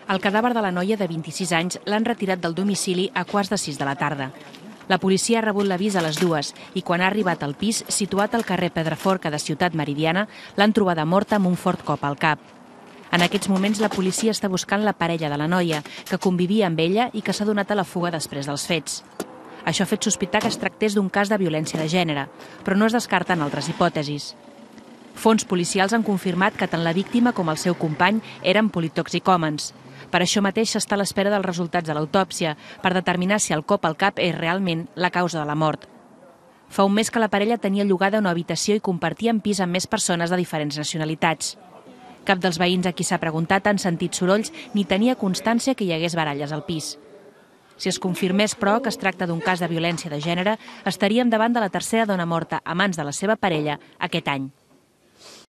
El cadàver de la noia de 26 anys l'han retirat del domicili a 5:15 de la tarda. La policia ha rebut l'avís a les 2 i quan ha arribat al pis, situat al carrer Pedraforca de Ciutat Meridiana, l'han trobada morta amb un fort cop al cap. En aquests moments la policia està buscant la parella de la noia, que convivia amb ella i que s'ha donat a la fuga després dels fets. Això ha fet sospitar que es tractés d'un cas de violència de gènere, però no es descarten altres hipòtesis. Fonts policials han confirmat que tant la víctima com el seu company eren politoxicòmens. Per això mateix s'està a l'espera dels resultats de l'autòpsia per determinar si el cop al cap és realment la causa de la mort. Fa un mes que la parella tenia llogada una habitació i compartien pis amb més persones de diferents nacionalitats. Cap dels veïns a qui s'ha preguntat han sentit sorolls ni tenia constància que hi hagués baralles al pis. Si es confirmés, però, que es tracta d'un cas de violència de gènere, estaríem davant de la tercera dona morta a mans de la seva parella aquest any.